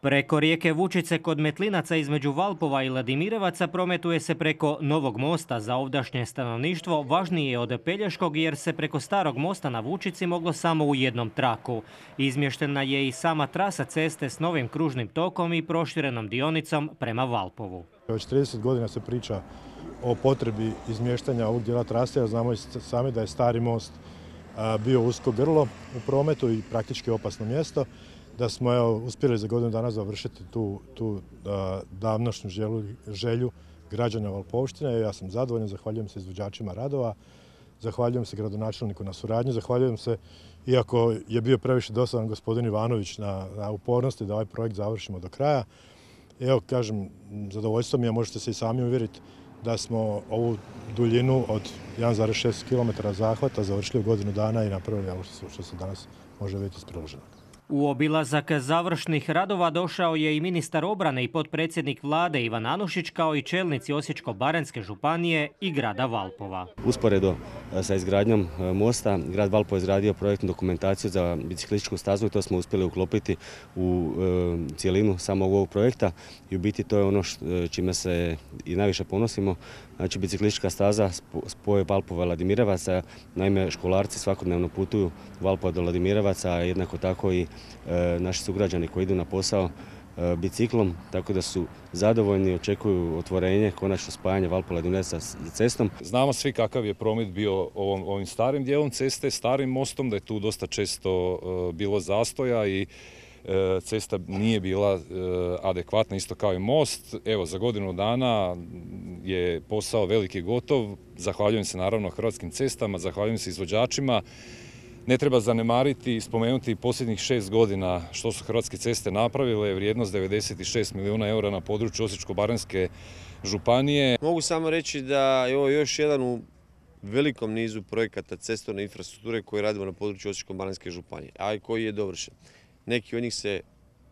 Preko rijeke Vučice kod Metlinaca između Valpova i Vladimirevaca prometuje se preko novog mosta. Za ovdašnje stanovništvo važnije je od Pelješkog jer se preko starog mosta na Vučici moglo samo u jednom traku. Izmještena je i sama trasa ceste s novim kružnim tokom i proširenom dionicom prema Valpovu. Već 30 godina se priča o potrebi izmještanja ovog dijela trase, jer znamo i sami da je stari most bio usko grlo u prometu i praktički opasno mjesto. Da smo uspjeli za godinu dana završiti tu davnošnju želju građana Valpovštine. Ja sam zadovoljan, zahvaljujem se izvođačima radova, zahvaljujem se gradonačelniku na suradnji, zahvaljujem se, iako je bio previše dosadan, gospodin Ivanović na upornosti da ovaj projekt završimo do kraja. Evo, kažem, zadovoljstvo mi je, možete se i sami uvjeriti da smo ovu duljinu od 1,6 km zahvata završili u godinu dana i napravili ovo što se danas može vidjeti iz priloženog. U obilazak završnih radova došao je i ministar obrane i potpredsjednik vlade Ivan Anušić, kao i čelnici Osječko-baranjske županije i grada Valpova. Usporedo sa izgradnjom mosta, grad Valpovo je izgradio projektnu dokumentaciju za biciklističku stazu i to smo uspjeli uklopiti u cijelinu samog ovog projekta i u biti to je ono čime se i najviše ponosimo. Znači, biciklistička staza spoj Valpova i Vladimirevaca, naime školarci svakodnevno putuju Valpova do Vladimirevaca, a jednako tako i naši sugrađani koji idu na posao biciklom, tako da su zadovoljni, očekuju otvorenje, konačno spajanje Valpova i Vladimirevaca s cestom. Znamo svi kakav je promet bio ovim starim dijelom ceste, starim mostom, da je tu dosta često bilo zastoja i cesta nije bila adekvatna, isto kao i most. Evo, za godinu dana je posao veliki gotov. Zahvaljujem se naravno Hrvatskim cestama, zahvaljujem se izvođačima. Ne treba zanemariti i spomenuti posljednjih 6 godina što su Hrvatske ceste napravile, vrijednost 96 milijuna eura na području Osječko-baranjske županije. Mogu samo reći da je ovo još jedan u velikom nizu projekata cestovne infrastrukture koje radimo na području Osječko-baranjske županije, a i koji je dovršen. Neki od njih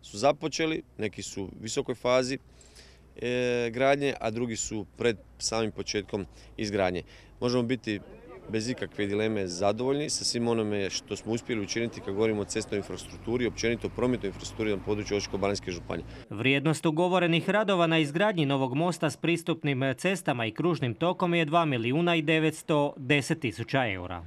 su započeli, neki su u visokoj fazi gradnje, a drugi su pred samim početkom izgradnje. Možemo biti bez ikakve dileme zadovoljni sa svim onome što smo uspjeli učiniti kad govorimo o cestovnoj infrastrukturi, općenito prometnoj infrastrukturi na području Osječko-baranjske županije. Vrijednost ugovorenih radova na izgradnji novog mosta s pristupnim cestama i kružnim tokom je 2 milijuna i 910 tisuća eura.